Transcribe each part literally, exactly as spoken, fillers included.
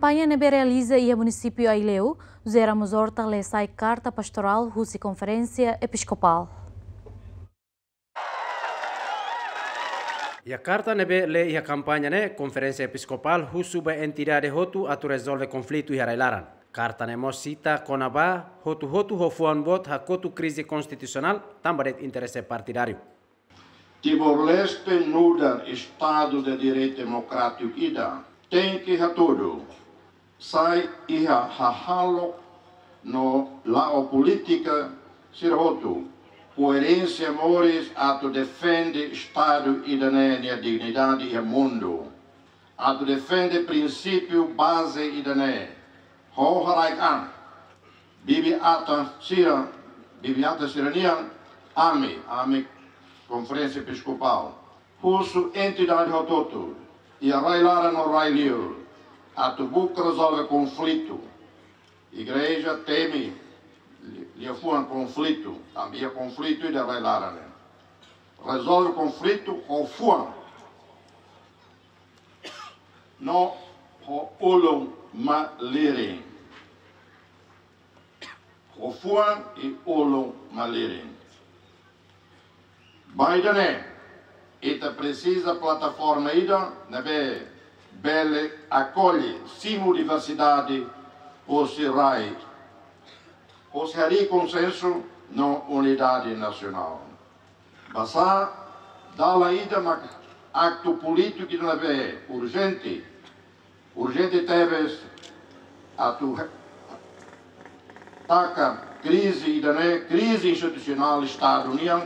Kampaña ne'ebé realiza iha munisípiu Aileu, José Ramos Horta lee sai karta pastorál husi Konferénsia Episkopál. Iha karta ne'ebé lee iha kampaña ne'e, Konferénsia Episkopál husu ba entidade hotu atu rezolve konflitu iha rai-laran. Karta ne'e mós sita kona-ba hotu-hotu ho fuan boot hakotu krize konstitusionál tanba de'it interese partidáriu. Timor-Leste nu'udar Estadu de Direitu Demokrátiku ida tenke hatudu, sai iha hahalok no la'o polítika sira hotu, koerénsia moris atu defende Estadu ida-ne'e nia dignidade iha mundu. Atu defende prinsípiu baze ida-ne'e, ho haraik an, bibi-atan sira, bibi-atan sira-nian, ami, ami Konferénsia Episkopál husu entidade hotu-hotu, iha rai-laran no rai-liur, atu buka rezolve konflitu. Igreja temi li-, liafuan konflitu, tanba iha konflitu iha rai-laran ne'e. Rezolve konflitu ho fuan no ho ulun malirin. Ho fuan i ulun malirin. Ba ida-ne'e, ita presiza plataforma ida ne'ebé bele akolle, simu diversidade, hosi rai, hosi harii konsensu no unidade nasionál. Basá dalan ida mak aktu polítiku ida ne'ebé urjente, urjente tebes atu he-, taka krize ida-ne'e, krize institusionál Estadu nian.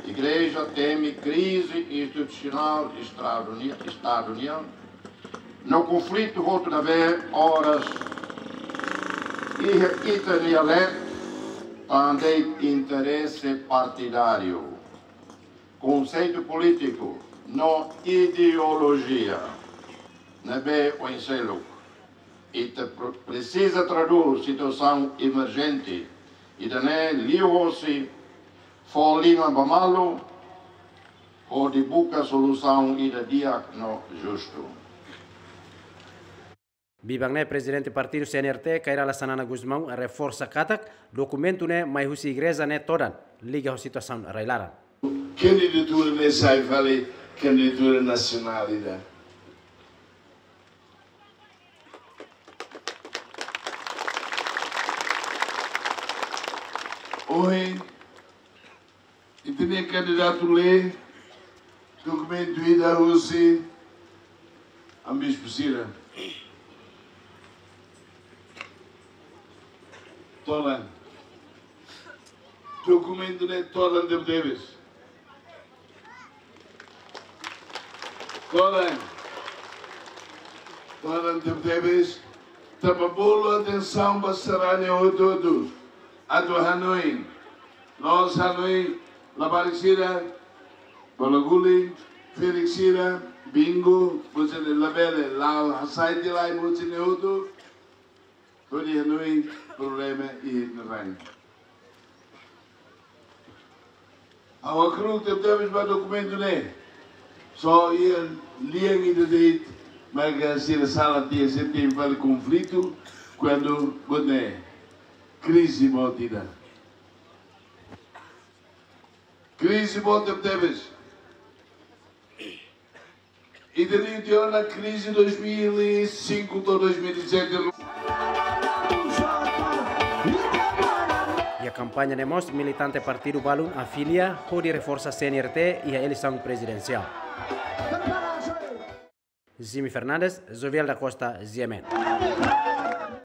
Igreja temi krize institusionál Estadu ni-, Estadu nian. No konflitu hotu ne'ebé oras iha ita-nia leet, tanba de'it interese partidáriu, konseitu polítiku no ideolojia ne'ebé oin seluk. Ita pre-, presiza tradús situasaun emerjente ida-ne'e liuhosi fó liman ba malu, hodi buka solusaun ida di'ak no justu. Biban ne'e Prezidente Partidu C N R T, Kay Rala Xanana Gusmão, reforsa katak dokumentu ne'e mai husi igreja ne'e todan, liga ho situasaun rai-laran. Kandidatura ne'e sai fali kandidatura nasionál ida. Ohin, ita-nia kandidatu lee dokumentu ida husi ami-nia bispu sira. Todan. Dokumentu ne'e todan tebetebes. Todan. Todan tebetebes. Tanba bolu atensaun ba sarani hotu-hotu. Atu hanoin. La'ós hanoin labarik sira, bola-guling, ferik sira, bingo, mós ne'e labele, la'o hasai tiha lai mós ne'e hotu, hodi hanoin problema iha ita-nia rai. Ha'u hakru'uk tebetebes ba dokumentu ne'e. Só iha lian ida de'it, maka sira sala tiha, sira temi fali konflitu, kuandu buat ne'e krize boot ida. Krize boot tebetebes. Ita liu tiha ona krize dois mil e cinco to'o dois mil e sete. Iha kampaña ne'e mós militante partidu balun afilia hodi reforsa C N R T iha eleisaun prezidensiál. Jimmy Fernandes, Jovial da Costa, G M N.